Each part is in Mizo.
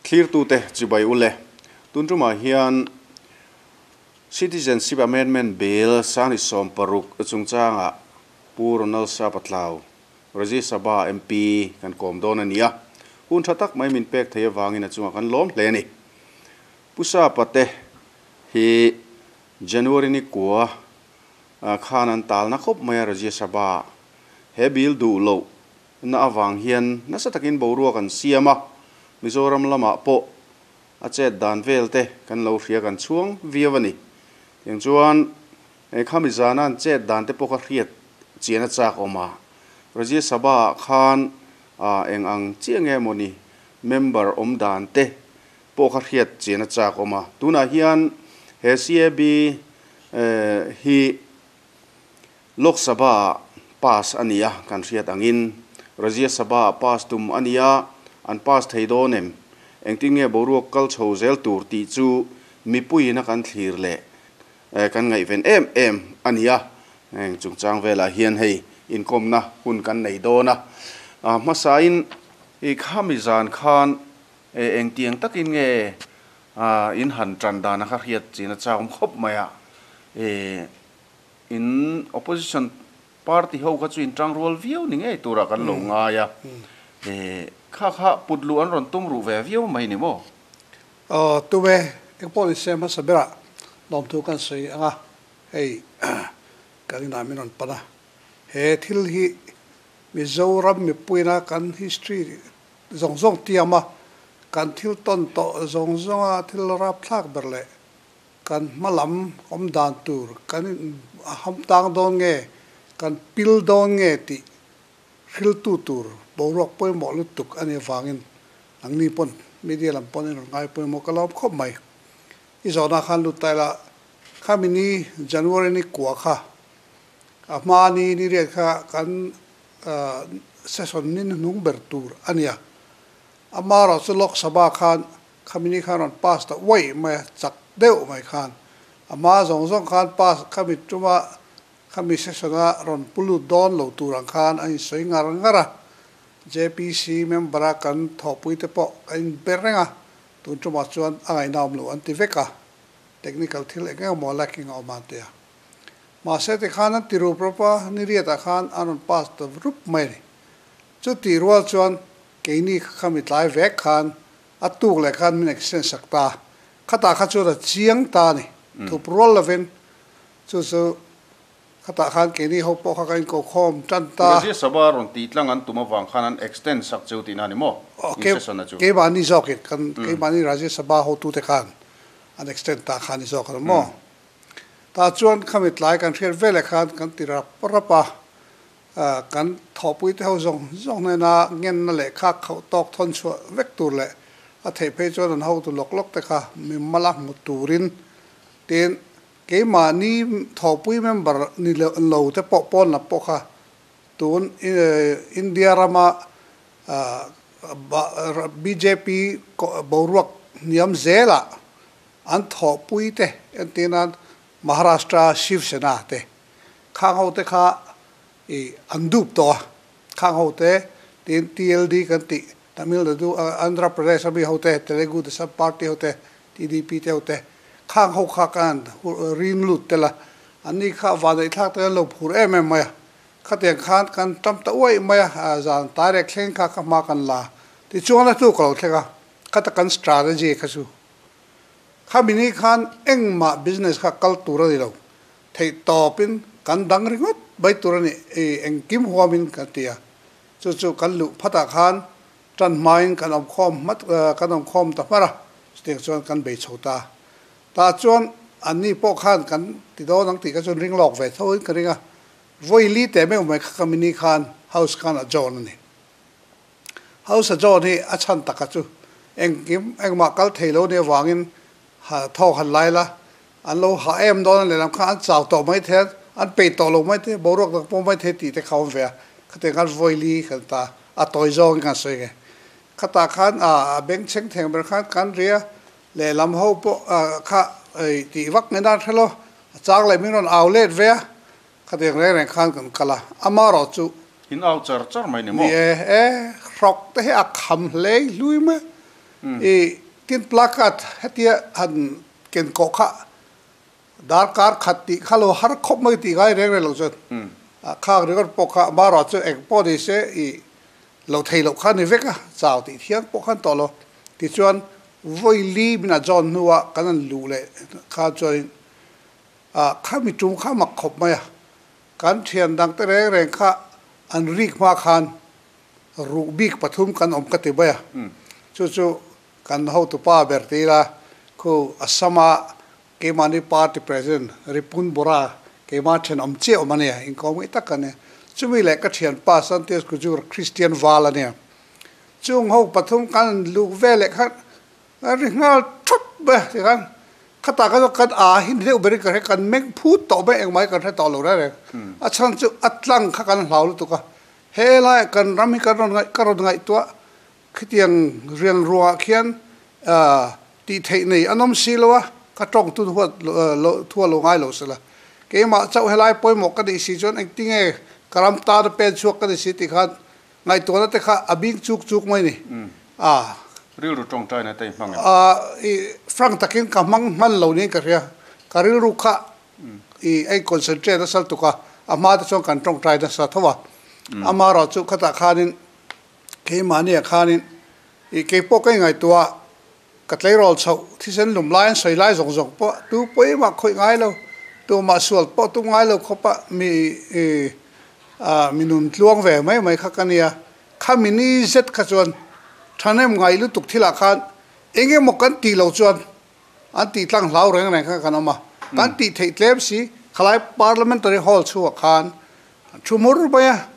Thlirtute chibai ule. Tun tumah hian Citizenship Amendment Bill 2016 chungchangah Pu Ronald Sapatlau, Rajya Sabha MP kan kawm dawn a ni a. Hun tha tak mai min pek thei avangin a chungah kan lawm hle a ni. Pu Sapa te hi January ni kua khan an talna khawp mai a Rajya Sabha he bill duh loh na avang hian nasa takin boruak an siam a, Mizoram lamah pawh a chet dan vel te kan lo hria kan chhuang viau a ni. Tiang chuan khami zana an chet dan te pawh ka hriat chian a chak awm a, Rajya Sabha ah khan eng ang chiah nge mawni member awm dan te pawh kha hriat chian a chak awm a. Tunah hian he CAB hi Lok Sabha ah pass a ni a, kan hriat angin Rajya Sabha ah pass tum a ni a, an pass thei dawn em? Engtin nge boruak kal chho zel tur tih chu mipuiin a kan thlir leh kan ngaihven em em a ni a, heng chungchang velah hian hei inkawmna hun kan nei dawn a. Hmasain i khami zan khan engtiang takin nge in han tan dan a kha hriat chin a chak awm khawp mai a. In opposition party ho kha chu in tang rual viau ni ngei turah kan lo ngai a, kha kha put luh an rawn tum ruh ve viau mai ni maw? Aw tum e, engpawh ni se hmasa berah lawmthu kan sawi ang a, hei kan inah min rawn pan a, he thil hi Mizoram mipuina kan history zawng zawng tiam a, kan thil tawn tawh zawng zawnga thil rapthlak ber leh Kan hma lam awm dan tur kan in ham tang dawn nge, kan pil dawn nge tih hriltu tur boruak pawimawh lutuk a nih avangin nangni pawn media lam pawn in rawn ngai pawimawh ka lawm khawp mai. I zawhna khan lut ta ila, khami ni January ni kua kha a hma ni ni riat kha kan session ni hnuhnung ber tur a nia. Amaherawh chu Lok Sabha khan Khami ni khan rawn pass ta uaih mai a, chak deuh mai khan. A hma zawng zawng khan pass khami tuma khami session a rawn pu lut dawn lo tur ang khan a insawi ngar ngar a. JPC member a kan thawhpui te pawh kan inbe reng a, tun tumah chuan a ngaihna awm lo an ti vek a, technical thil eng eng emaw lacking a awm a an ti a. Mahse tikhan an ti rup rup a, ni riatah khan an rawn pass ta rup mai a ni. Chutih rual chuan keini khami tlai vek khan A tuk leh khan min extend sak ta. Khatah kha chuan a chiang ta a ni. Thup rual lovin chu chu khatah khan keini ho pawh kha kan inkokhawm tan ta. Rajya Sabha rawn tih tlang an tum avang khan an extend sak cheu tihna a ni maw? In session a chu. Keimahni zawkin kan keimahni Rajya Sabha hotute khan an extend ta kha a ni zawk a ni maw? Tah chuan khami tlai kan hriat veleh khan kan ti rap rap a. Kan thawhpuite ho zawng zawng hnena ngenna leh kha khauh tawk thawn chhuah vek tur leh a theih phei chuan an hotu lawk lawk te kha mi mala hmu turin tin keimahni thawhpui member ni lo te pawh pawn lam pawh kha tun India rama bjp boruak hniam zelah an thawhpui te entirnan Maharashtra Shiv Sena te Khang ho te kha i an dup tawh a, khang ho te tiin TLD kan tih Tamil Nadu, Andhra Pradesh a mi ho te, Telugu Desam Party ho te, TDP te ho te, khang ho kha kan rin lut tel a, an ni kha vaneihthlak te an lo phur em em mai a, khatiang khan kan tam ta uaih mai a, zan tai rek thleng kha ka hma kan la tichuan a tluk a lo thleng a, khata kan strategy kha chu khami ni khan engmah business kha kal tur a ni lo. Theih tawpin kan dang ringawt mai tur a ni, i engkim huamin kan ti a. Chu chu kan luh phatah khan tan hmain kan awm khawm hmat, kan awm khawm ta hmar a, chutiang chuan kan bei chho ta. Tah chuan anni pawh khan kan ti dawn ang tih kha chuan ring lawk ve tho in ka ring a, vawi li teh meuh mai kha ka mini khan house khan a join a ni. House a join hi a chhan taka chu engkim engmah kal thei lo nih avangin thawk han lai la, An lo hah em dawn a lehlam khan an chau tawh mai thei a, an peih tawh lo mai thei, boruak dang pawh mai thei tih te kha awm ve a, khatiang khan vawi kan ta a tawi zawngin kan sawi nge. Khatah khan a bengchheng theng ber khan kan ri a, lehlam ho pawh kha tih vak mai nan hre lo, a chang leh min rawn au let ve a, khatiang reng reng khan kan kal a, amaherawh chu. In au char char mai ni maw? Ni e, e, hrawk te hi a kham hlei hlui mai. I tin placard hetia han ken kawh kha darkar khat tih kha lo har khawp mai tih ngai reng reng lo chuan khang ringawt pawh kha amaherawh chu eng pawh ni se i lo thei loh kha ni vek a, chau tih thiang pawh khan tawh lo. Tichuan vawi li min a zawn hnuah kan han luh leh kha chuanin khami tum kha mak khawp mai a, kan thian dangte reng reng kha an rik hma khan ruh bik pathum kan awm ka ti mai a, chu chu kan hotupa ber ti ila khu Assam-a keimahni party president Ripun Bora keimah thenawm chiah awm a nia, inkawm ngei tak a nia. Chumi leh ka thianpa Santias Kujur Christian Val a nia. Chung ho pathum kan luh ve leh khan kan ri nghal thawt mai a tikhan khatah khan kan a hi ni deuh berin ka hre kan meng phut tawh mai engmah hi kan hre tawh lo reng reng. A chhan chu a tlang kha kan hlau lutuk a, He laiah kan ram hi kan rawn ngaih ka rawn ngaihtuah khitiang riang ruangah khian tih theih nei an awm si lo a, ka tawng tun huat lo thu a lo ngai lo sela. Keimah chauh helai pawimawh ka nih si chuan engtinge ka ram tana pen chhuak ka ni si tih khan ngaihtuahna te kha a bing chuk chuk mai ni. A. Rilru tawngtaina te i hmang em? I frank takin ka hmang hman lo niin ka hria. Ka rilru kha I a in-concentrate nasa lutuk a, a hma te chuan kan tawngtai nasa tho a. Amaherawh chu khatah khanin keimahniah khanin i keipawh ka ingaihtuah a, ka tleirawl chhoh thisen lum lai an sawi lai zawng zawng pawh tu pawimah khawih ngai lo, tumah sual pawh tum ngai lo khawpa mi i mi nun tluang ve mai mai kha ka nia. Khami ni zet kha chuan thahnem ngai lutuk thilah khan eng emaw kan tih loh chuan An tih tlang hlau reng reng kha kan awm a, kan tih theih tlem si, khalai Parliamentary Hall chhungah khan thu hmur mai a,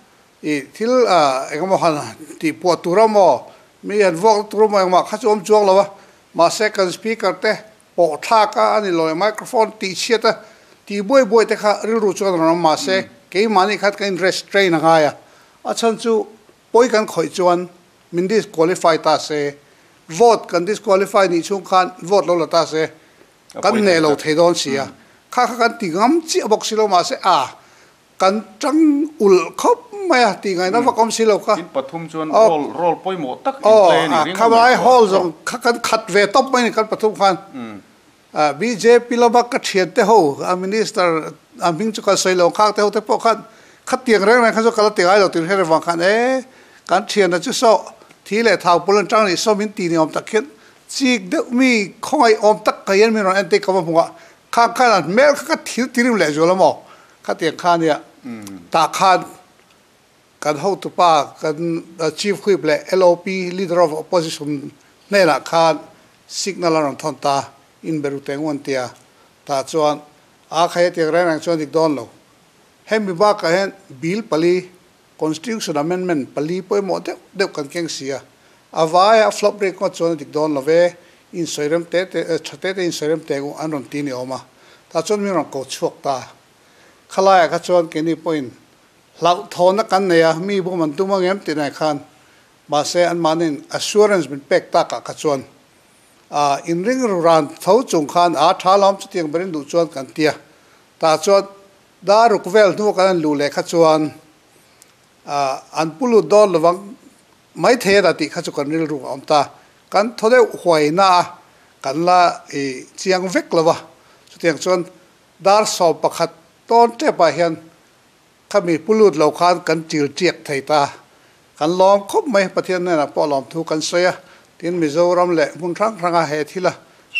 ih thil engemaw han tih puah tur a maw, mi han vuak tur emaw engmah kha chu awm chuang lo a, mahse kan Speaker te pawh thlak a a ni lo e, microphone tih chhiat a tih buai buai te kha rilru chuan rawn awm mahse keimahni khan kan in restrain a ngai a, a chhan chu pawi kan khawih chuan Min disqualify ta se, vote kan disqualify nih chhung khan vote lo la ta se, kan hneh lo thei dawn si a. Kha kha kan ti ngam chiah bawk si lo mahse a kan tang ulh khawp mai a tih ngaihna vak awm si lo kha. In pathum chuan role role pawimawh tak in play a ni ring awm em? Hall zawng kha kan khat ve tawp mai a ni kan pathum khan. Bjp lama ka thiante ho a minister a hming chu kan sawi lo khak te ho te pawh khan khatiang reng reng kha chu ka la ti ngai lo tih hre reng vang khan e kan thiana chu saw thi leh thau pul an tang nih saw min ti ni awm tak hian chik deuh mi khawngaih awm tak ka hian min rawn en te ka va hmu a khang khan an hmel kha ka thil ti rim leh zual a maw khatiang kha nia tah khan kan hotupa kan chief whip leh LOP leader of opposition hnenah khan Signal a rawn thawn ta, in be ru teng u an ti a, tah chuan a khai a tiang reng reng chuan dik dawn lo. Hemi bakah hian Bill pali, Constitution Amendment pali pawimawh deuh deuh kan keng si a, a vaia a flop rate ngawt chuan a dik dawn lo ve, in sawi rem te te, tha te te in sawi rem teng u an rawn ti ni awm a, tah chuan min rawn ko chhuak ta. Khalaiah kha chuan keini pawhin hlauhthawnna kan nei a, mi bum an tum angem tih nai khan Mahse, anmahniin assurance min pek takah kha chuan inring ru ran tho chung khan a tha lawm chutiang berin duh chuan kan ti a. Tah chuan dar ruk vel hnu kan han luh leh kha chuan an pu lut dawn lovang mai thei a dah tih kha chu kan rilru a awm ta. Kan thaw deuh huai na a, kan la chiang vek lo va. Chutiang chuan dar 11 tawn tepah hian Khami pu lut lo khan kan til tiak thei ta. Kan lawm khawp mai, Pathian hnenah pawh lawmthu kan sawi a, tin Mizoram leh hmun hrang hranga he thila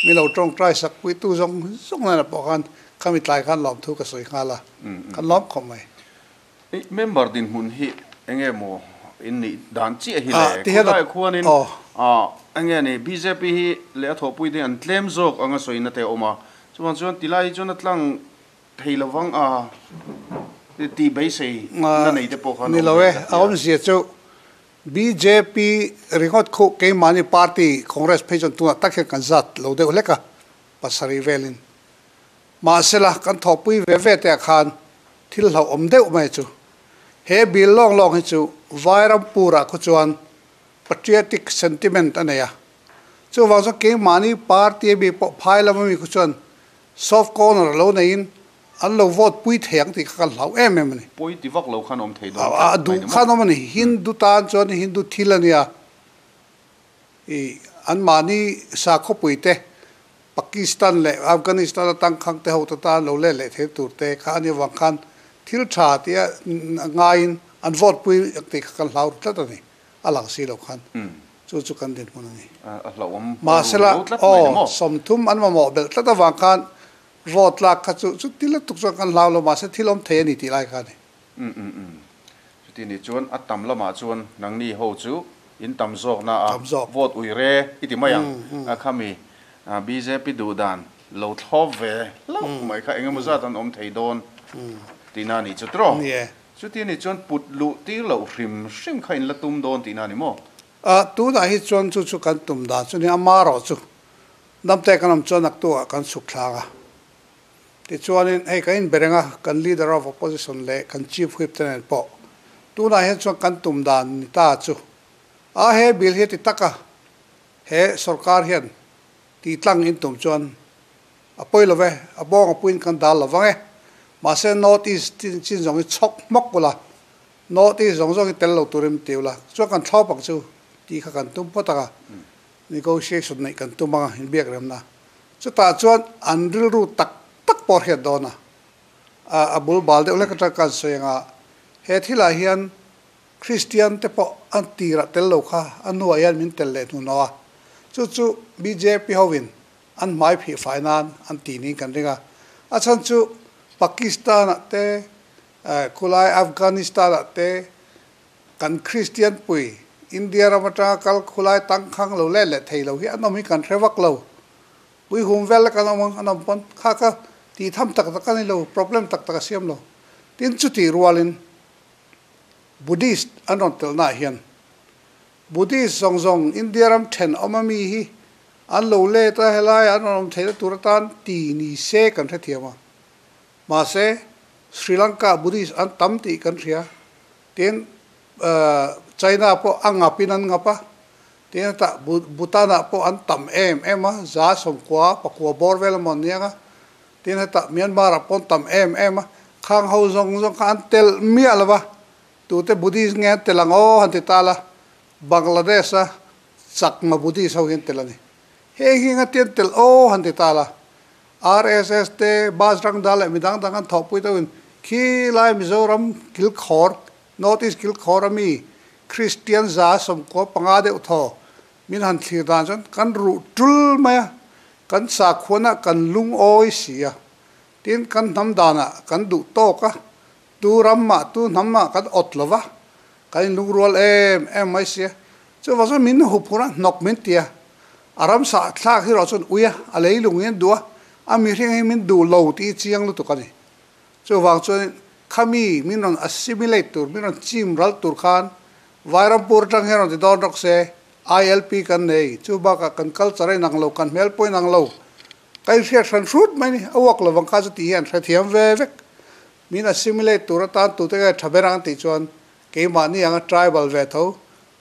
mi lo tawngtai sak puitu zawng zawng hnenah pawh khan khami tlai khan lawmthu ka sawi nghal a, kan lawm khawp mai. I member dinhmun hi enge maw in nih dan chiah hi le? Khulai khuanin enge ni bjp hi leh a thawhpui te an tlem zawk anga sawina te a awm a, chuvang chuan tilai hi chuan a tlang Thei lovang a tih beisei na nei te pawh khan a awm ve ka ti a. Ni lo e, a awmzia chu bjp ringawt khuh keimahni party Congress phei chuan tunah tak hian kan zat lo deuh hlek a, pasarih velin. Mahsela kan thawhpui ve ve te ah khan thil hlauhawm deuh mai chu he bill lawng lawng hi chu Vairampur ah khu chuan patriotic sentiment a nei a, chuvang chuan keimahni party ami pawh phai lama mi khu chuan Soft corner lo neiin an lo vote pui thei ang tih kha kan hlau em em a ni. Pawi ti vak lo khan awm thei dawn tlat mai ni maw? A duh khan awm a ni. Hindu tan chuan Hindu thil a nia. I anmahni sakhawpui te Pakistan leh Afghanistan atang khang te hote tan lo let leh thei tur te kha a nih avang khan thil tha tia ngaiin an vote pui ang tih kha kan hlau ru tlat a ni. A lang si lo khan chu chu kan dinhmun a ni. Mahsela, aw, 30 an mamawh belh tlat avang khan vote lak kha chu chuti lutuk chuan kan hlau lo, mahse thil awm thei a ni tih lai kha a ni. Umm. Chuti nih chuan a tam lamah chuan nangni ho chu in tam zawkna a vote ui re i ti mai ang a khami bjp duh dan lo thlawp ve hlauh mai kha engemaw zat an awm thei dawn tihna a nih chu tiraw? Chuti nih chuan put luh tir loh hrim hrim kha in la tum dawn tihna a ni maw? A, tunah hi chuan chu chu kan tum dan chu ni a marawh chu damte kan awm chuan naktuah kan chhuk thlak a. Tichuanin hei kan inbe reng a, kan Leader of Opposition leh kan Chief Whip te nen pawh tunah hian chuan kan tum dan ni ta chu a he bill hi a ti tak a, he sorkar hian tih tlang in tum chuan a pawi lo ve, a bawng a puiin kan dal lo vang e. Mahse North East chin zawng hi chhawk hmawk ula, North East zawng zawng hi tel lo turin ti ula, chuan kan thlawp ang chu tih kha kan tum phawt ang a, negotiation neih kan tum ang a, inbiak remna. Chutah chuan an rilru tak tak pawh hriat dawn a, a bul bal deuh hlek atang kan sawi ang a, he thilah hian Kristian te pawh an tirah tel lo kha a hnuah hian min tel leh hnuhnawh a, chu chu bjp hovin an hmai phih fai nan an ti niin kan ring a, a chhan chu Pakistan-ah te, khulai Afghanistan-ah te kan Kristian pui India ram atanga kal khulai tangkhang lo let leh thei lo hi an awm hi kan hre vak lo. Pui hum vel kan awm ang an awm pawn kha kha tih tham tak tak a ni lo, problem tak tak a siam lo. Tin chutih rualin Buddhist an rawn telhnaah hian Buddhist zawng zawng India ram then awm a mi hi an lo let a, helai an rawn awm theihna tur atan ti ni se kan hrethiam a. Mahse Sri Lanka Buddhist an tam tih kan hria. Tin China pawh a ngapin an ngap a, tin hetah Bhutan-ah pawh an tam em em a, 90 pakua bawr vel amaw an niang a, tin hetah Myanmar-ah pawh an tam em em a, khang ho zawng zawng kha an telh miah lo va, tute Buddhist nge an telh ang aw han ti ta la, Bangladesh-a Chakma Buddhist ho hi an telh a ni. Heng hi engati an telh aw han ti ta la, RSS te, Bajrang Dal leh midang dang an thawhpui deuhin khi lai Mizoram kilkhawr, North East kilkhawr a mi Kristian 95 deuh thaw min han thlir dan chuan kan ruh tul mai a, kan sakhuanah kan lungawi si a, tin kan hnam danah kan duh tawk a, tu ram mah tu hnam mah kan awt lo va, kan inlungrual em em mai si a, chuvang chuan min huphurh a, hnawk min ti a. A ramsa thlak hi erawh chuan ui a, a leilung hi an duh a, a mihring hi min duh lo tih hi chiang lutuk a ni. Chuvang chuanin khami min rawn assimilate tur, min rawn chim ral tur khan Vairampur atang hian rawn ti dawn rawk se, ILP kan nei, chu bakah kan culture a inang lo, kan hmel pawh a inang lo, ka inhriat hran hrut mai ni, a uak lovang kha chu tih hi an hrethiam ve vek. Min assimilate tur atan tute nge tha ber ang tih chuan keimahni anga tribal ve tho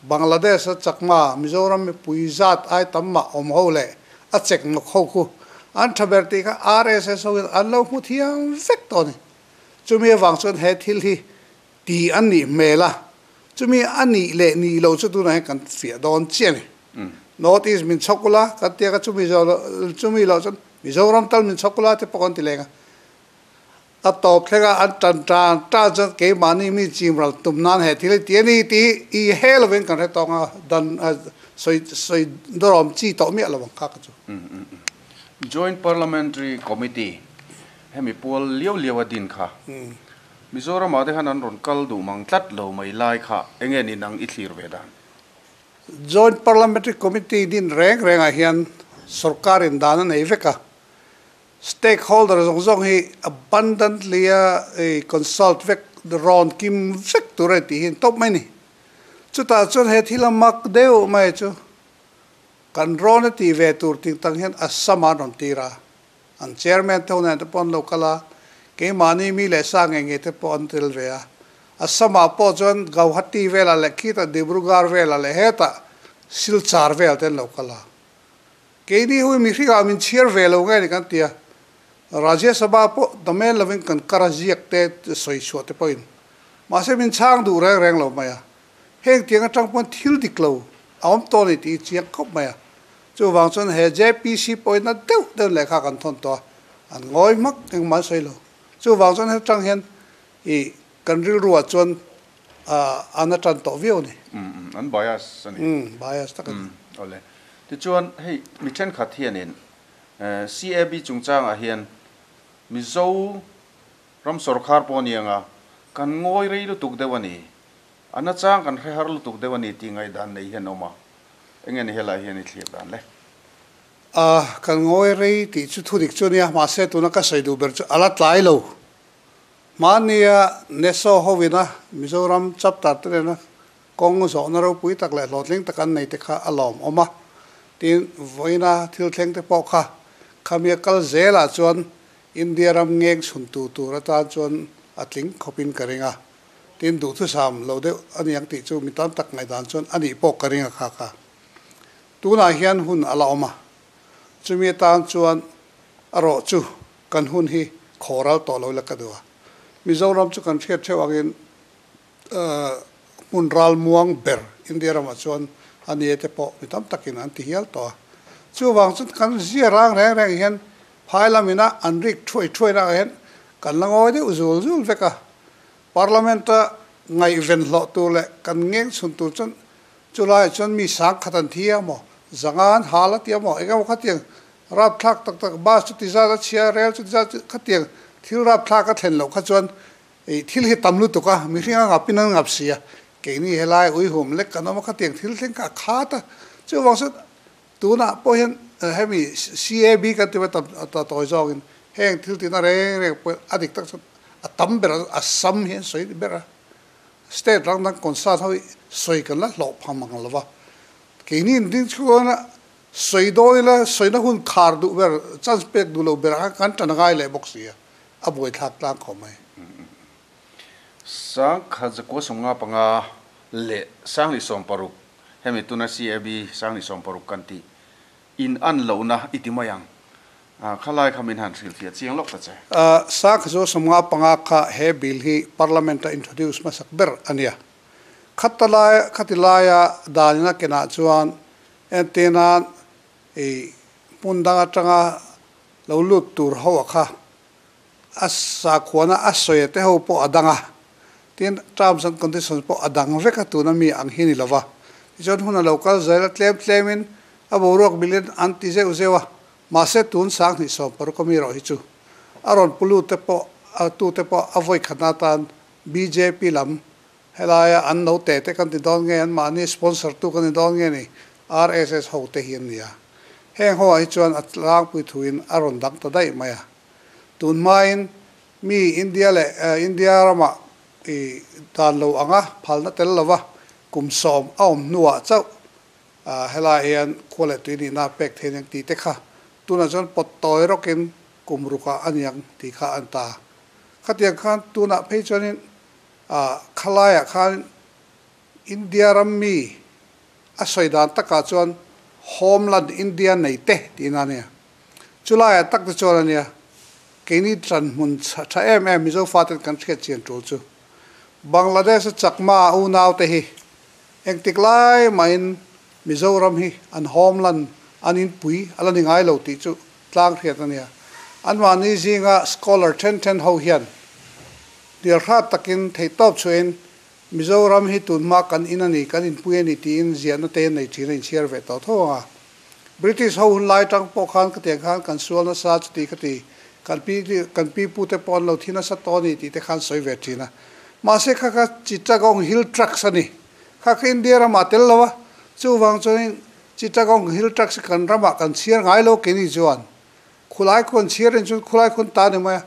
Bangladesh a Chakma, Mizoram mipui zat ai tam mah awm ho leh a chek nawk ho khu an tha ber tih kha RSS ho in an lo hmu thiam vek tawh a ni. Chumi avang chuan he thil hi ti a nih hmel a, chumi a nih leh nih lo chu tunah hian kan fiah dawn chiah a ni. North East min chhawk ula kan tia kha chumi chumi loh chuan Mizoram tal min chhawk ula te pawh kan ti leng a. A tawp thleng a an tan tan tan chuan keimahni mi chim ral tum nan he thil hi ti a ni tih hi i he lovin kan hre tawng a, dan sawi sawi dawrawm chi tawh miah lo ang kha ka chu. Joint Parliamentary Committee hemi pual liau liau a din kha Mizoramah te khan an rawn kal duh mang tlat lo mai lai kha enge ni nang i thlir ve dan? Joint Parliamentary Committee din reng rengah hian sorkarin dan a nei vek a, Stakeholder zawng zawng hi abundantly a consult vek, rawn kim vek tur a ni tih hi an tawp mai a ni. Chutah chuan he thil a mak deuh mai chu kan rawn a tih ve tur ting tang hian Assam ah an rawn tir a, an chairman te ho nen te pawh an lo kal a, keimahni mi leh sa ngei ngei te pawh an tel ve a. Assam ah pawh chuan Gauhati velah leh khitah Dibrugarh velah leh hetah Silchar vel te an lo kal a. Keini hui mihringah min chhiar ve lo nge ni kan ti a, Rajya Sabha pawh domain lovin kan kar a ziak te sawi chhuah te pawhin mahse min chhang duh reng reng lo mai a, heng tiang atang pawn thil dik lo a awm tawh a ni tih hi chiang khawp mai a. Chuvang chuan he JPC pawhin na deuh deuh lehkha kan thawn tawh a, an ngawi hmak engmah an sawi lo. Chuvang chuan hetang hian ih kan rilruah chuan an a tan tawh viau a ni. Umm an bias a ni. Umm bias tak a ni. Umm awle. Tichuan hei mi thenkhat hianin CAB chungchangah hian Mizo ram sawrkhar pawh a ni anga kan ngawi rei lutuk deuh a ni. A nachang kan hre har lutuk deuh a ni tih ngaihdan nei hian a awm a, enge ni helai hian i thlir dan le? A, kan ngawi rei tih chu thu dik chu a nia, mahse tuna ka sawi duh ber chu a la tlai lo. Hmania NESO hovina Mizoram chapter te nena kawng zawhna ropui tak leh hlawhtling tak an nei te kha a lawm awm a, tin vawiina thil thleng te pawh kha khamia kal zelah chuan India ram ngeng chhuntu tur atan chuan a tling khawpin ka ring a. Tin, duhthusam lo deuh a niang tih chu mi tam tak ngaihdan chuan a nih pawh ka ring a kha kha. Tunah hian hun a la awm a, chumi atan chuan a rawh chu kan hun hi khawral tawh lo ila ka duh a. Mizoram chu kan hriat theuh angin hmun ralmuang ber India ramah chuan a ni e te pawh mi tam takin an ti hial tawh a. Chuvang chuan kan zia rang reng reng hian phai lamina an rik thuai thuai naah hian kan la ngawi deuh zul zul vek a. Parliament-a ngaihven hlawh tur leh kan ngeng chhun tur chuan chulaiah chuan mi sang khat an thi a maw, zanga an hal a tia maw, engemaw khatiang rapthlak tak tak bus chu ti zat a chhia, rel chu ti zat khatiang thil rapthlak a thlen loh kha chuan ih thil hi tam lutuk a, mihring a ngapin an ngap si a, keini helai uihum lek kan awm a khatiang thil thleng kha a khat a, chuvang chuan Tunah pawh hian hemi CAB kan ti mai tam ta tawi zawngin heng thil tihna reng reng pawh a dik tak chuan a tam ber a sam hi an sawi ber a, state rang dang concern ho hi sawi kan la hlawh phang mang lo va, keini in ding chhuana sawi dawn ila sawina hun khar duh ber chance pek duh lo ber ah khan kan tan a ngai leh bawk si a, a buaithlak tlang khawp mai. Sangkhat zakua sawmnga panga leh Sanghnih 60 Hemi tuna CAB 2060 kan tih in an lohna i ti mai ang. Khalai kha min han hrilhfiah chiang lawk ta che. Sakha chu 55 kha he bill hi Parliament a introduce hmasak ber a nia. Khatalai khati laia danin a kenah chuan entirnan i hmun dang atanga lo lut tur ho a kha a sakhuana a sawi te ho pawh a dang a, tin terms and conditions pawh a dang vek a tuna mi ang hi ni lova. Tichuan hun a lo kal zel a, tlem tlemin a boruak bilin an ti zeuh zeuh a, mahse tun 2060 a mi erawh hi chu a rawn pu lut te pawh a tu te pawh a vawi khatna atan bjp lam helaia an no te te kan ti dawn nge anmahni sponsor tu kan ni dawn nge ni RSS ho te hi an ni a. Heng ho ah hi chuan a tlangpui thuin a rawn dang ta daih mai a. Tun hmain mi India leh India ramah i dan lo anga phalna tel lova kum 10 a awm hnuah chauh helaiah hian khua leh tui nihna pek thei aniang tih te kha tunah chuan pawt tawi rawkin kum rukah aniang tih kha an ta. Khatiang khan tunah phei chuanin khalaiah khan India ram mi a sawi dan takah chuan Homeland India nei te tihna a nia. Chulaiah tak te chuan a nia, keini tanhmun tha em em Mizo faten kan hriat chian tul chu. Bangladesh-a Chakma unaute hi engtik lai mahin Mizoram hi an homeland, an inpui a la ni ngai lo tih chu tlang hriat a nia. Anmahni zinga scholar then then ho hian hnialhrat takin theihtawp chhuahin Mizoram hi tunhma kan in a ni, kan inpui a ni tiin ziahna te nei thin a inchhiar ve tawh tho ang a. British ho hun lai tang pawh khan khatiang khan kan sual nasa chuti khati kan pi kan pi pu te pawh an lo thi nasa tawh a ni tih te khan sawi ve thin a. Mahse kha kha Chittagong Hill Tracts a ni. Kha kha India ramah tel lo a, chuvang chuanin Chittagong Hill Tracts hi kan ramah kan chhiar ngai lo keini chuan khulai khu an chhiar in chuan khulai khu an ta ni mai a.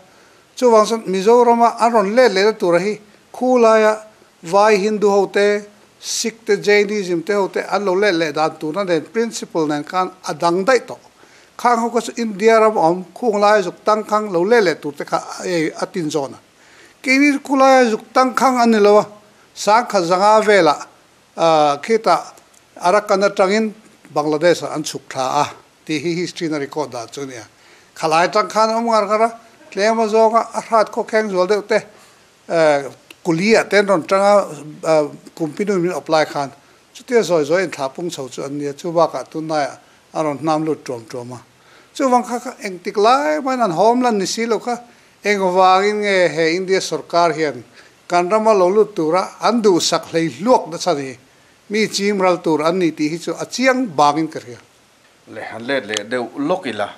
Chuvang chuan Mizorama an rawn let lehna tura hi khulaia Vai Hindu ho te, Sikh te, Jainism te ho te an lo let leh dan turna nen principle nen khan a dang daih tawh. Khang ho kha chu India ram awm khung laia zuk tangkhang lo let leh tur te kha a tin zawn a. Keini khu laia zuk tangkhang an ni lo a, 1500 velah khitah Arakan atangin Bangladesh ah an chhuk thla a tih hi history na record dan chu a nia. Khalai atang khan a awm ngar ngar a, tlem a zawnga a hrat khawkheng zual deuh te Kuliah te an rawn tang a, Kumpinu min apply khan. Chutia zawi zawi inthlah pung chho chu an nia, chu bakah tunlaiah a rawn hnam lut tuam tuam a. Chuvang kha kha engtik lai maiin an hawm lan ni si lo kha, engvangin nge he India sorkar hian kan rama lo lut tura an duhsak hlei hluak nasa ni, mi chim ral tur an ni tih hi chu a chiang bangin ka hria. Le han let leh deuh lawk ila,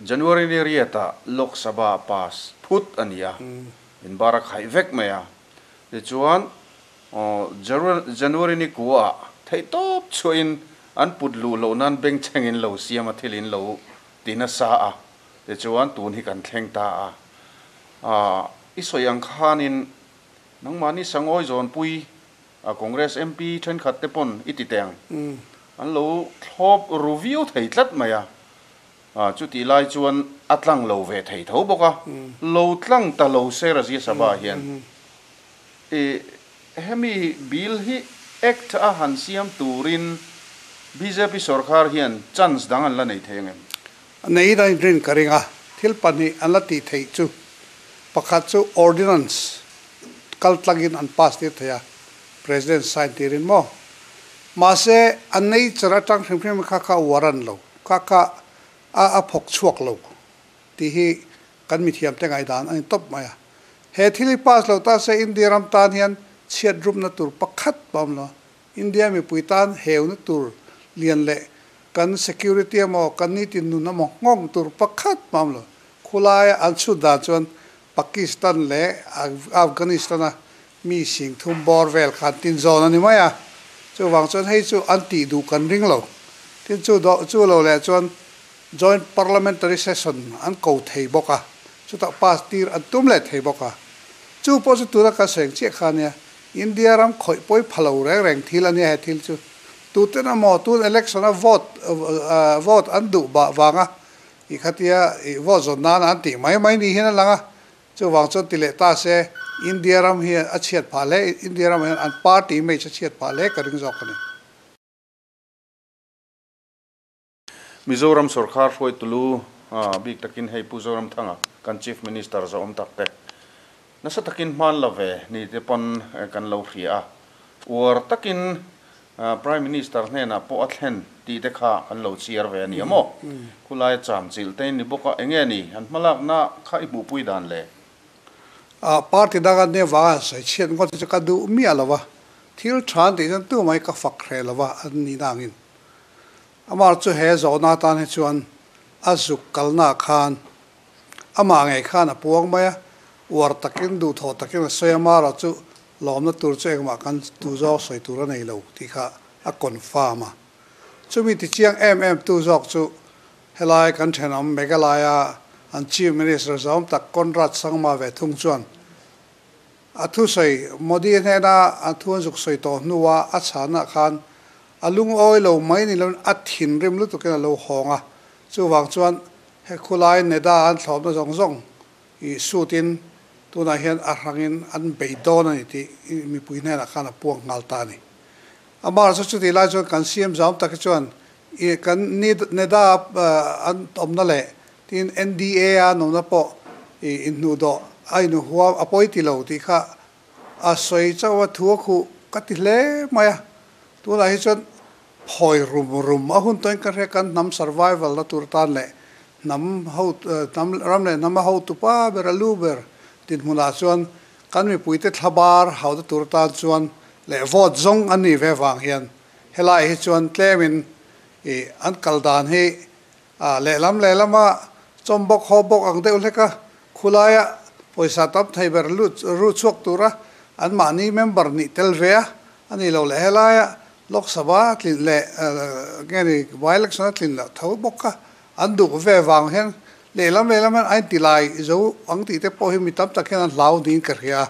January ni riatah Lok Sabha pass phut a ni a, in bar a khaih vek mai a. Tichuan, January ni kuaah theihtawp chhuahin an put luh loh nan bengchheng in lo siam a, thil in lo ti nasa a. Tichuan, tun hi kan thleng ta a. I sawi ang khanin nangmahni Sangawi zawnpui Congress MP thenkhat te pawn i ti teh ang, an lo thlawp ru viau thei tlat mai a. Chutih lai chuan a tlang lo ve thei tho bawk a, lo tlang ta lo se Rajya Sabha hian i hemi bill hi Act a han siam turin bjp sorkar hian chance dang an la nei thei ang em? Nei in a inrin ka ring a, thil pahnih an la tih theih chu pakhat chu Ordinance kal tlangin an pass tir thei a, President sign tirin maw? Mahse a nature atang hrim hrim kha kha warrant lo. Ka ka a a phawk chhuak lo tih hi kan mithiam te ngaihdan a ni tawp mai a. He thil hi pass lo ta se India ram tan hian chhiat rupna tur pakhat pawh a awm lo. India mipui tan heuna tur lian leh kan security emaw kan nitin nun emaw nghawng tur pakhat pawh a awm lo. Khulaia an chhut dan chuan Pakistan leh Afghanistan a mi sing thum bawr vel khan tin zawn a ni mai a, chuvang chuan hei chu an tih duh kan ring lo. Tin chu do chu lo leh chuan Joint Parliamentary Session an ko thei bawk a, chutah pass tir an tum leh thei bawk a. Chu pawh chu tuna kan sawi ang chiah kha ania, India ram khawih pawi pha lo reng reng thil a nia he thil chu. Tuten emaw tun election a vote vote an duh bah vanga i khatia i vote zawn nana an tih mai mai ni hian a lang a, Chuvang chuan ti leh ta se, India ram hian a chhiat phah hle, India ramah hian an party image a chhiat phah hle ka ring zawk a ni. Mizoram sorkar hruaitulu bik takin hei Pu Zoramthanga kan Chief Minister zawhawm tak te nasa takin hman la ve ni te pawn kan lo hria a, uar takin Prime Minister hnenah pawh a thlen tih te kha kan lo chhiar ve a ni a maw? Khulai cham chilh te in ni bawk a, enge ni an hmalakna kha i hmuhpui dan le? Party dang an nia vanga sawi chhiat ngawt hi chu ka duh miah lo va, thil tha an tih chuan tumah hi ka fak hreh lo va an nih na angin. Amah chu he zawhna atan hi chuan a zuk kalnaah khan amah ngei khan a puang mai a, uar takin duhthawh takin a sawi a, Mara chu Lawmna tur chu engmah kan tu zawk sawi tur a nei lo tih kha a confirm a. Chumi ti chiang em em tu zawk chu helai kan thenawm Meghalaya an Chief Minister zawm tak Conrad Sangma ve thung chuan a thusawi Modi hnena a thu an zuk sawi tawh hnua a chhanah khan a lungawi lo mai ni loin a thinrim lutukin a lo hawng a. Chuvang chuan he khulai NEDA an thlawpna zawng zawng I suit-in tunah hian a hrangin an bei dawn a ni tih mipui hnenah khan a puang nghal ta a ni. Amah chu chutih lai chuan kan CM zam tak hi chuan i kan NEDA an awmna leh tin NDA a an awmna pawh i inhnuhdawh a inhuam a pawi ti lo tih kha a sawi chauh a, thu a khuh ka ti hle mai a. Tunah hi chuan Phawi rum rum a hun tawhin ka hria kan hnam survival na tur tan leh hnam ho hnam ram leh hnam a hotu pa ber a lu ber dinhmunah chuan kan mipuite thlabar hauhna tur tan chuan leh vote zawng an nih ve vang hian helai hi chuan tlemin ih an kal dan hi ah lehlam lehlama chawm bawk haw bawk ang deuh hlek a khulaia pawisa tam thei ber lut ru chhuak tura an mahni member nih tel ve a a ni lo leh helaia Lok Sabha tlin leh nge ni by election a tlin loh tho bawk kha an duh ve vang hian lehlam lehlam hian a inti lai zo ang tih te pawh hi mi tam tak hian an hlau niin ka hria a,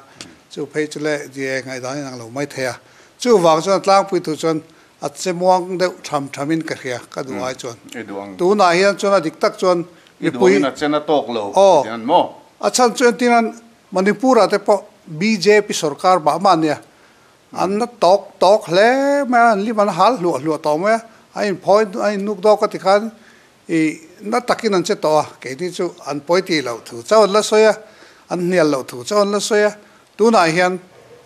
chu phei chu leh die ngaihdan in ang lo mai thei a, chuvang chuan a tlangpui tur chuan a che muang deuh tham tham in ka hria ka duh ai chuan tunah hian chuan a dik tak chuan mipui aw a chhan chu entirnan Manipur ah te pawh bjp sorkar mah mah ania An na tawk tawk hle mai a, an lim an hal hluah hluah tawh mai a, a inphawi a innuk dawk a ti khan ih na takin an che tawh a, keini chu an pawi tih loh thu chauh an la sawi a, an hnial loh thu chauh an la sawi a, tunah hian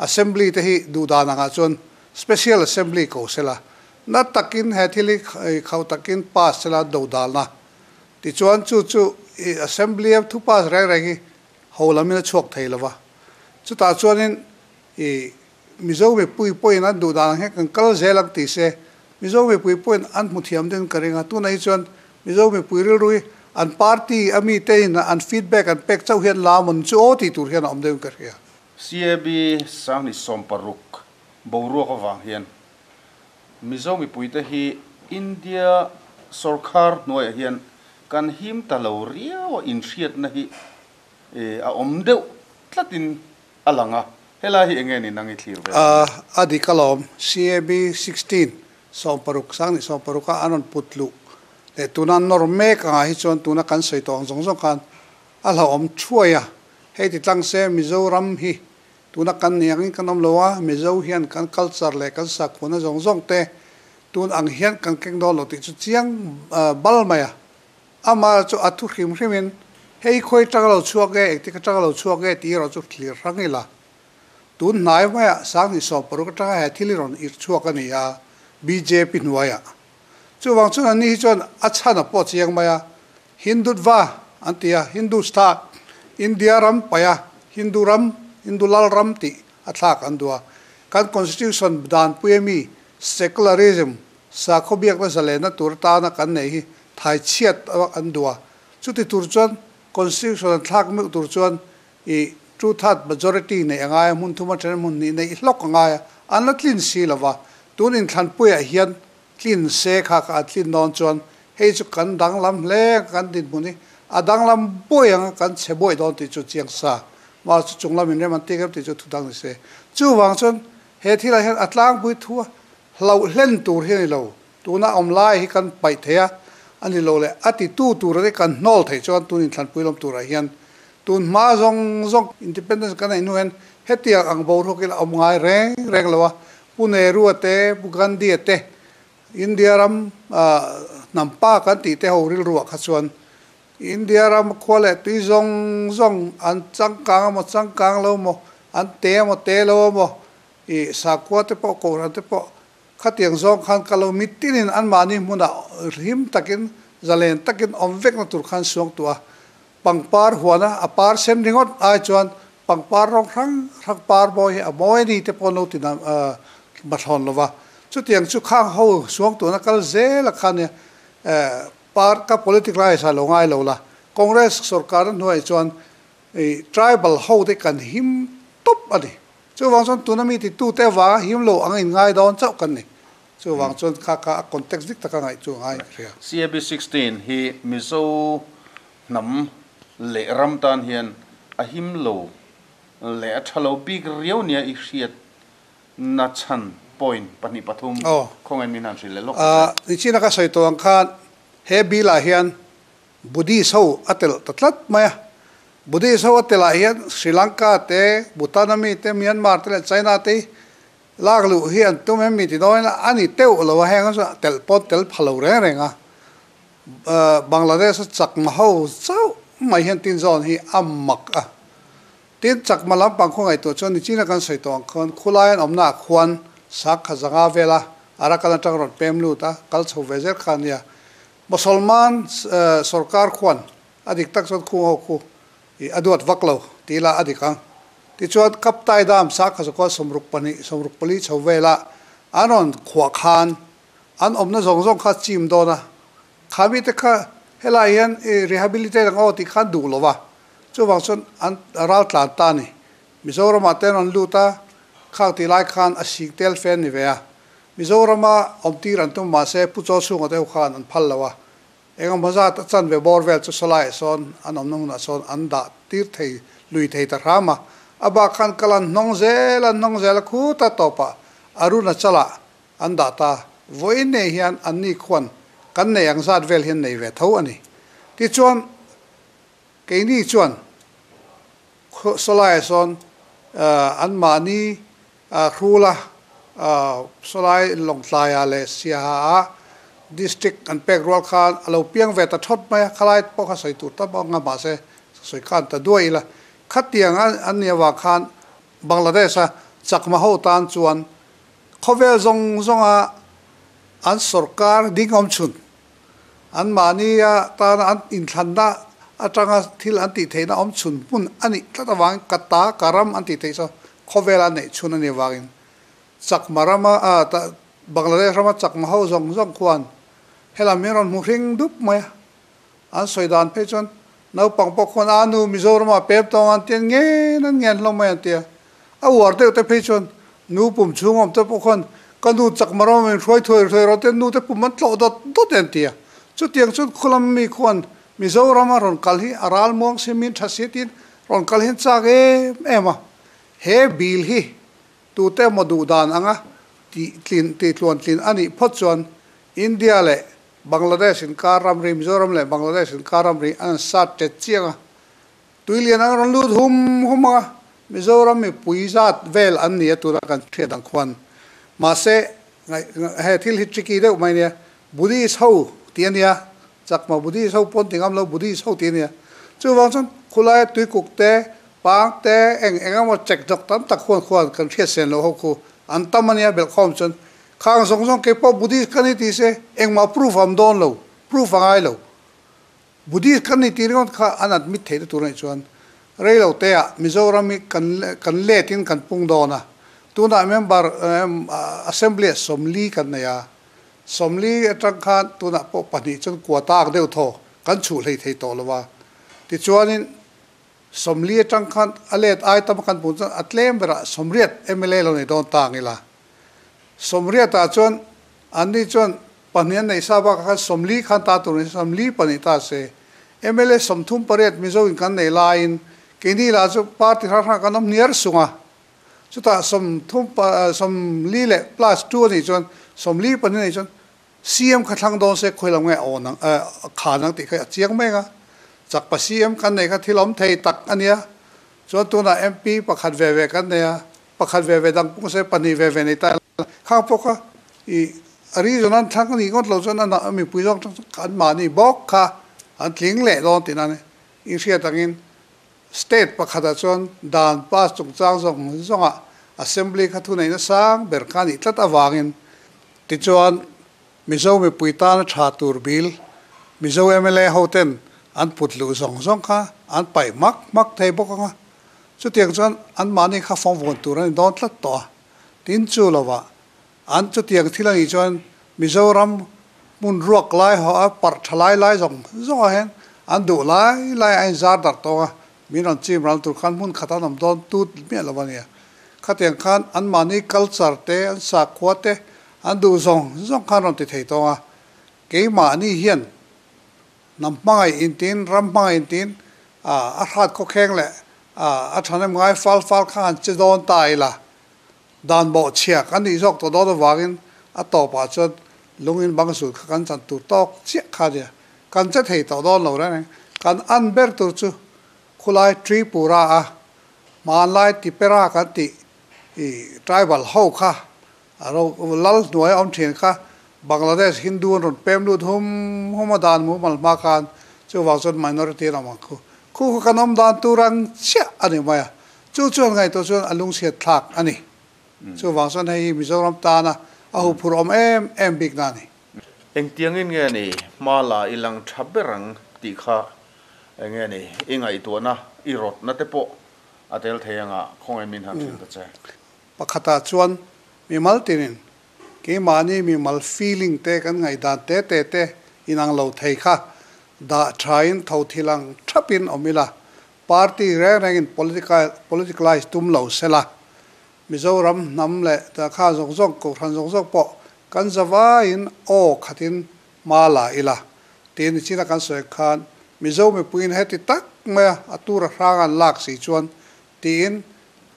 Assembly te hi duhdan angah chuan Special Assembly ko sela, na takin he thil hi khauh takin pass sela dodalna. Tichuan chu chu Assembly a thu pass reng reng hi ho lamin a chhuak thei lova. Chutah chuanin i Mizo mipui pawhin an duh dan ang hian kan kal zel ang tih se, Mizo mipui pawhin an hmu thiam deuhin ka ring a. Tunah hi chuan Mizo mipui rilru hi an party a mite in an feedback an pek chauh hian la mawn chu aw tih tur hian a awm deuhin ka hria. CAB 2016 boruak avang hian Mizo mipuite hi India sawrkhar hnuaiah hian kan him ta lo riau a, inhriatna hi a awm deuh tlatin a lang a, helai hi enge ni nang i thlir ve ang? A dik alawm, CAB 16 16 2016 a an rawn put luh leh tuna an nawr mek angah hi chuan tuna kan sawi tawh ang zawng zawng khan a hlauhawm thuai a, hei ti tlang se Mizoram hi tuna kan ni angin kan awm lo a, Mizo hian kan culture leh kan sakhuana zawng zawng te tun ang hian kan keng dawn lo tih chu chiang bal mai a. Amah chu a thu hrim hrimin, Hei khawi tang lo chhuak e, engtik atang lo chhuak e tih erawh chu thlir hrang ila. Tun hnai maiah 2016 atanga he thil hi rawn irh chhuak a ni a, bjp hnuaiah. Chuvang chuan anni hi chuan a chhan a pawh chiang mai a, Hindutva an ti a, Hindustan, India ram paih a, Hindu ram, Hindu lal ram tih a thlak an duh a. Kan Constitution danpui ami Secularism, Sakhaw biakna zalenna tur atana kan neih hi thai chhiat an duh a, chuti tur chuan Constitution an thlak meuh tur chuan i two third majority neih a ngai a, hmun thum atanga hmun hnih neih hlawk a ngai a, an la tlin si lo va, tun inthlanpuiah hian tlin se kha kha an tlin dawn chuan hei chu kan danglam hle ang, kan dinhmun hi a danglam buai ang a, kan chhe buai dawn tih chu chiang sa, mahse chu chunglam inrem an tik em tih chu thudang ni se. Chuvang chuan he thilah hian a tlangpui thu a Hlauh hlen tur hi a ni lo. Tuna awm lai hi kan paih thei a, a ni lo le. A titu tura te kan hnawl theih chuan tun inthlanpui lawm turah hian tun hma zawng zawng independence kan neih hnu hian hetiang ang boruak ila awm ngai reng reng lo a. Pu Nehru-a te, Pu Gandhi-a te, India ram hnam pa kan tih te ho rilruah kha chuan India ram khua leh tui zawng zawng an changkang emaw changkang lo emaw, an te emaw te lo emaw I sakhua te pawh kohhran te pawh khatiang zawng khan ka lo mitinin anmahni hmunah hlim takin zalen takin awm vekna tur khan suang tuah a. Pangpar huana a par sen ringawt ai chuan pangpar rawng hrang hrang par mawi hi a mawi a ni te pawh an lo ti mathlawn lo va. Chutiang chu khang ho suang tuahna kal zel a khan nia par ka politic lai sa lo ngai lo la. Congress sorkarna hnuaiah chuan tribal ho te kan him tawp a ni. Chuvang chuan tuna mi titute avanga him lo ang inngai dawn chauh kan ni. Chuvang chuan kha kha a context dik taka ngaih chu a ngai ka hria. CAB 16 hi Mizo hnam leh ram tan hian a him lo leh a tha lo bik riau nia i hriat na chhan point pahnih pathum khawngaih min han hrilh leh lawk ta che. Nichina ka sawi tawh ang khan he bill ah hian Buddhist ho a telh ta tlat mai a. Buddhist ho a telh ah hian Sri Lanka te, Bhutan ami te, Myanmar te leh China te hi lak luh hi an tum em mi ti dawn ila a ni teuh lo a, heng chu telh pawh an tel pha lo reng reng a. Bangladesh a chakma ho chauh mai hian tin zawn hi a mak a. Tin, chakma lampang khaw ngaihtuah chuan nichina kan sawi tawh ang khawn khulai an awmnaah khuan sakha zanga vela Arakan atang rawn pem lut a, kal chho ve zel kha a nia. Mosolman sorkar khuan a dik tak chuan khung ho khu i a duat vak lo ti ila a dik ang. Tichuan Kaptai Dam sakha zakua 64 64 chho vela an rawn khuah khan an awmna zawng zawng kha chim dawn a, kha mite kha helai hian i rehabilitate ang aw tih khan duh lo va, chuvang chuan an ral tlan ta a ni. Mizoramah te an rawn lut a, khang tih lai khan a sik tel fe an ni ve a. Mizorama awmtir an tum mahse Pu Chaw chhunga te ho khan an phal lo a, engemaw zat a chanve bawr vel chu sawlaiah sawn an awmna hmunah sawn an dah tir thei lui thei ta hram a, a bak khan kal an hnawng zel an hnawng zel a khuta tawpah Arunachalah an dah ta. Vawiin nei hian anni khuan kan nei ang zat vel hian nei ve tho a ni. Tichuan keini chuan sawlaiah sawn anmahni Hrula, Sawlai Lawngtlaia leh Siaha-ah District an pek rual khan a lo piang ve ta thawt mai a, khalai pawh kha sawi tur tam ang a, mahse sawi khan ta duai ila. Khatiang an nih avang khan Bangladesh-a chakma ho tan chuan Khawvel zawng zawnga an sorkar ding awm chhun, an mahnia tana an inthlanna atanga thil an tih theihna awm chhun hmun a nih tlat avangin ka ta, ka ram an tih theih chu khawvela neih chhun a nih avangin Chakma rama Bangladesh rama Chakma ho zawng zawng khuan helam hi rawn hmu hring dup mai a. An sawi dan phei chuan naupang pawh khuan a nu Mizoram ah pem tawng an tia ngen an ngen hlawm mai an tia. A uar deuh te phei chuan nu pum chhung awm te pawh khuan ka nu Chakma rama min hruai thuai thuai rawh te nu te pum an tlawh dawt dawt e an tia. Chutiang chuan khulam mi khuan Mizoram a rawn kal hi a ral muang si min tha si tiin rawn kal hian chak em em a. He bill hi tute emaw duh dan anga tih tlin tih tluan tlin a nih phawt chuan India leh Bangladesh inkar ramri, Mizoram leh Bangladesh inkar ramri an sat tet chiang a, tuilian an rawn lut hum hum ang a, Mizoram mipui zat vel an ni a tuna kan hriat ang khuan. Mahse, he thil hi tricky deuh mai nia, Buddhist ho tih a nia, Chakma Buddhist ho pawn ti ngam lo, Buddhist ho tih a nia. Chuvang chuan khulaia tuikuk te, pang te, eng eng emaw chek dawk tam tak khuan khuan kan hriat sen loh ho khu an tam a nia belhkhawm chuan Khang zawng zawng kei pawh Buddhist ka ni tih se engmah proof a awm dawn lo, proof a ngai lo. Buddhist ka ni tih ringawt kha an admit theih tur anih chuan rei lo te ah Mizoram hi kan kan let in kan pung dawn a. Tunah member assembly ah 40 kan nei a, 40 atang khan tunah pawh pahnih chuan quota deuh thaw kan chhuh hlei thei tawh lo a. Tichuanin 40 atang khan a let ai tam a kan pung chuan a tlem berah 80 mla lo nei dawn ta ang ila. 80 ah chuan anni chuan pahnih an neih sa bakah khan 40 khan ta tur ni 42 ta se. Mla 38 Mizo in kan nei laiin keini lah chu party hrang hrang kan awm hniar sung a. Chutah 30 40 leh plus two a nih chuan 42 a nih chuan CM kha thlang dawn se khawi lo nge aw nang kha nang tih kha a chiang mek a. Chakpa CM kan nei kha thil awm thei tak a nia. Chuan tunah MP pakhat ve ve kan nei a. Pakhat ve ve dang pawh se pahnih ve ve nei ta ila khang pawh kha i a reason an thlang a nih ngawt lo chuan a mipui zawng tang chuan an mahni bawk kha an tling leh dawn tih nan i hriat angin state pakhatah chuan dan pass chungchang zawng zawngah assembly kha thuneihna sang ber kha a nih tlat avangin tichuan Mizo mipui tana tha tur bil Mizo mla ho ten an put luh zawng zawng kha an paih hmak hmak thei bawk ang a. Chutiang chuan anmahni kha fawng vawn tur a ni dawn tlat tawh a. Tin chu lovah an chutiang thil a nih chuan Mizoram hmun ruak lai haw a parh tha lai lai zawng zawngah hian an duh lai lai a inzar darh tawng a, min rawn chim ral tur khan hmun khat an awm dawn tut miah lo a nia. Khatiang khan anmahni culture te, an sakhua te an duh zawng zawng khan rawn ti thei tawng a. Keimahni hian Hnam hmangaih intiin, ram hmangaih intiin a hrat khawkheng leh a thahnem ngai fal fal kha han che dawn ta ila, dan bawhchhia kan nih zawk tawh dawn avangin a tawpah chuan lungin bang zul kha kan chan tur tawk chiah kha a nia. Kan che thei tawh dawn lo reng reng. Kan an ber tur chu khulai Tripura a hmanlai Tipera kan tih i tribal ho kha A ro lal hnuai a awm thin kha Bangladesh Hindu an rawn pem lut hum hum a dan mumal hma khan chuvang chuan minority an awm ang khu. Khu kha kan awm dan tur ang chiah a ni mai a, chu chuan ngaihtuah chuan a lungchhiat thlak a ni. Chuvang chuan hei hi Mizoram tana a huphurh awm em em bik na a ni. Engtiangin nge ni hma la i lang tha ber ang tih kha enge ni i ngaihtuahna i rawtna te pawh a tel thei anga khawngaih min han hrilh ta che. Pakhatah chuan mimal tinin keimahni mimal feeling te kan ngaihdan te te te inang lo thei kha dah thain tho thil ang thapin awm ila, party reng rengin politicalise tum lo sela, Mizoram hnam leh dahkha zawng zawng, kohhran zawng zawng pawh kan zavaiin aw khatin hma la ila tiin nichina kan sawi khan Mizo mipuiin heti tak maia a tura hrang an lak si chuan Tiin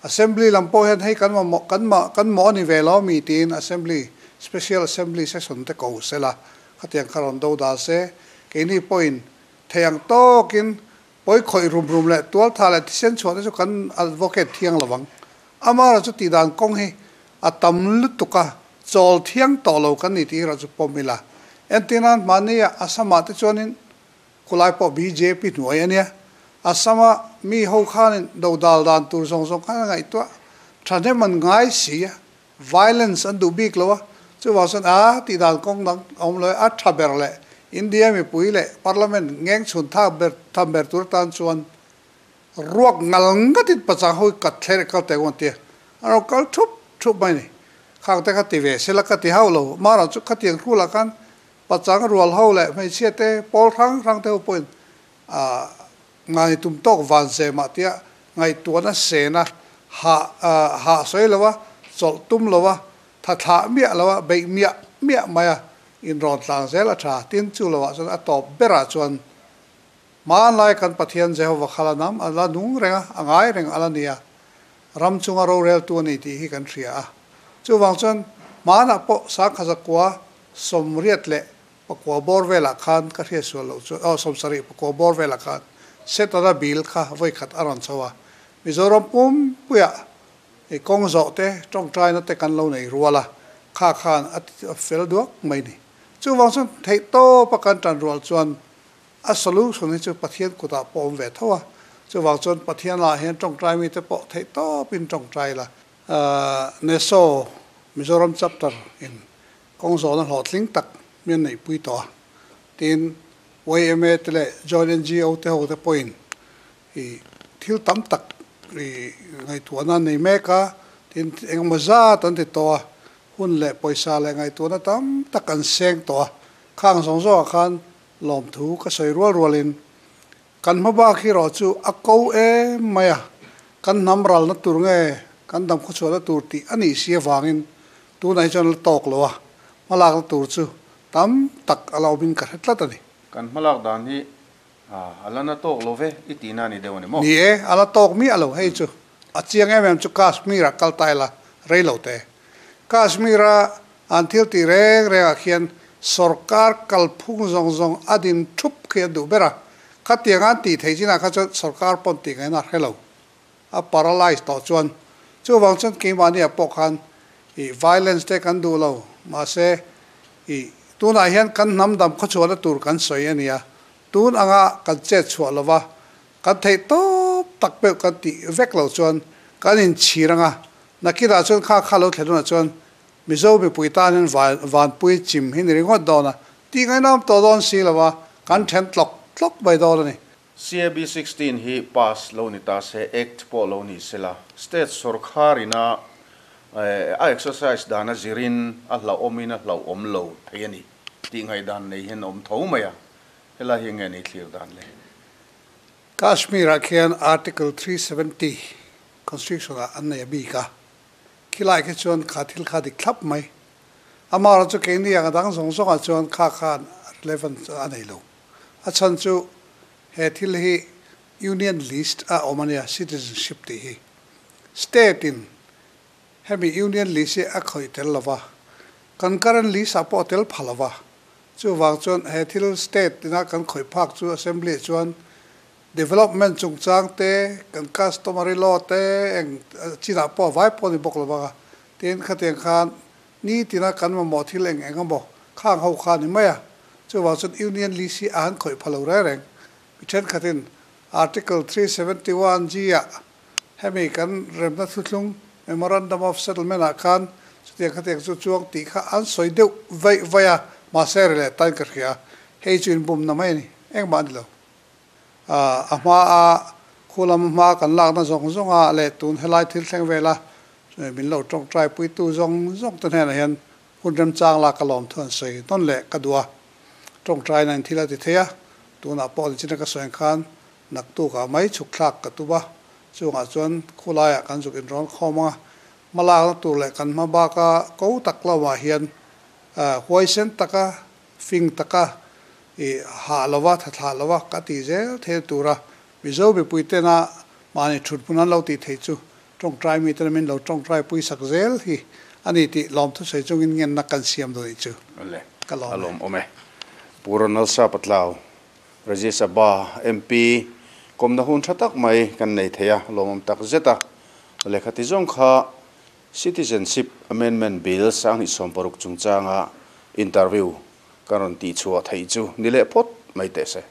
Assembly lam pawh hian hei kan mamawh kan mah kan mawh a ni ve lo mi tiin Assembly Special Assembly Session te ko sela khatiang kha rawn do dal se. Keini pawhin thei ang tawkin pawi khawih rum rum leh tualtha leh thisen chhuah te chu kan advocate thiang lo vang. Amara chu tihdan kawng hi a tam lutuk a, chawl thiang tawh lo kan ni tih erawh chu pawm ila. Entirnan hmahni ah Assam ah te chuanin Khulai pawh bjp hnuai a nia. Assam-a mi ho khanin dodal dan tur zawng zawng khan a ngaihtuah thahnem an ngai si a. Violence an duh bik lo a, chuvang chuan a tih dan kawng dang a awm lo e, a tha ber leh India mipui leh Parliament ngeng chhun thak ber tham ber tur atan chuan ruak ngal ngatin pachang ho hi kat thler kal teh ang tia an rawn kal thup thup mai a ni. Khang te kha ti ve sela ka ti hauh lo, mahrawh chu khatiang hrulah khan pachang rual ho leh hmeichhia te pawl hrang hrang te ho pawhin a ngai tum tawk van ze mah tia ngaihtuahna sena hah hah sawi lo a, chawlh tum lo a, tha thlah miah lo a, beih miah miah mai a, inrawn tlang zel a tha. Tin, chu lovah chuan a tawp berah chuan hmanlai kan Pathian Jehova kha la nam a la nung reng a, a ngai reng a la ni a, ram chunga roreltu a ni tih hi kan hria a. Chuvang chuan hmanah pawh Sangkhazakua 88 leh Pakua bawr velah khan ka hriat sual loh chuan, aw 70 pakua bawr velah khan Setana bil kha vawi khat a rawn chho a. Mizoram pumpuiah i kawng zawh te, tawngtaina te kan lo nei rual a, kha khan a fel duak mai ni. Chuvang chuan theih tawpa kan tan rual chuan a solution hi chu Pathian kutah pawh awm ve tho a. Chuvang chuan Pathian lah hian tawngtai mite pawh theih tawpin tawngtai la. NESO Mizoram Chapter in Kawng zawhna hlawhtling tak mi an neihpui tawh a, tin yma te leh Joint NGO te ho te pawhin i thil tam tak i ngaihtuahna an nei mek a, tin engemaw zat an ti tawh a, hun leh pawisa leh ngaihtuahna tam tak an seng tawh a, khang zawng zawngah khan lawmthu ka sawi rual rualin kan hma bak hi erawh chu a ko em mai a, kan hnam ralna tur nge kan dam khawchhuahna tur tih a nih si avangin Tunah hi chuan a la tawk lo a, hmalakna tur chu tam tak a la awmin ka hre tlat a ni. Kan hmalak dan hi a la na tawk lo ve i tihna a ni deuh a ni maw? Ni e, a la tawk miah lo. Hei chu a chiang em em chu Kashmir-ah kal ta ila rei lo te. Kashmir-a an thil tih reng rengah khian sawrkar kalphung zawng zawng a din thup khi an duh ber a. Khatiang an tih theih chinah kha chuan sawrkar pawn tih ngaihna a hre lo. A paralyze tawh chuan chuvang chuan keimahniah pawh khan ih violence te kan duh lo mahse ih tunah hian kan hnam dam khawchhuahna tur kan sawi a nia tun anga kan chet chhuah lova kan theih tawp tak peuh kan tih vek loh chuan kan inchhir anga nakinah chuan kha kha lo thlen hunah chuan Mizo mipui tan hian vanpui chim hi ni ringawt dawn a tih ngaihnawm tawh dawn si lova kan then tlawk tlawk mai dawn a ni. CAB 16 hi pass lo ni ta se, Act pawh lo ni sela, State sawrkhar ina a exercise dan a zirin a hlauhawmin a hlauhawm lo thei a ni tih ngaihdan nei hian a awm tho mai a, helai hi nge ni thlir dan le? Kashmir-ah khian Article 370 Constitution-ah an nei a bik a, khilai khi chuan kha thil kha dik thlap mai. Amaherawhchu chu keini ang a dang zawng zawngah chuan kha khan relevance a nei lo. A chhan chu he thil hi Union List a awm a nia, citizenship tih hi. State in hemi Union List hi a khawih tel lo va, kan current list ah pawh a tel pha lo va. Chuvang chuan he thil state ina kan khawih phak chu Assembly ah chuan development chungchang te, kan customary law te eng chinah pawh a vai pawh a ni bawk lo vang a. Tin, khatiang khan Nitina kan mamawh thil eng eng emaw khang ho kha a ni mai a, chuvang chuan Union List hi a han khawih pha lo reng reng. Mi thenkhatin Article 371 G ah hemi kan remna thuthlung Memorandum of Settlement ah khan chutiang khatiang chu chuang tih kha an sawi deuh vaih vaih a, mahse ri leh tan ka hria. Hei chu inbumna mai a ni, engmah a ni lo. A hma a khu lam hma kan lakna zawng zawng a leh tun helai thil thleng vela min lo tawngtai puitu zawng zawng te hnenah hian hun remchang lak ka lawm thu an sawi tawn leh ka duh a. Tawngtaina in thil a ti thei a, tunah pawh nichina ka sawi ang khan naktukah mai chhuk thlak ka tum a, chungah chuan khulaiah kan zuk inrawn khawm ang a, hma lakna tur leh kan hma baka ko tak lamah hian huaisen taka fing taka i hah lova, tha thlah lova ka tih zel thei tura Mizo mipui tena mahni thut hmun an lo tih theih chu tawngtai mite min lo tawngtai pui sak zel hi a ni tih lawmthu sawi chungin ngenna kan siam dawn i chu Awle, ka lawm a e. lawm awm e. Pu Ronald Sapatlau, Rajya Sabha MP, kawmna hun tha tak mai kan nei thei a, lawmawm tak zet a. Awle, khati zawng kha Citizenship Amendment Bill 2016 chungchanga interview kan rawn tihchhuah theih chu ni leh phawt mai teh se.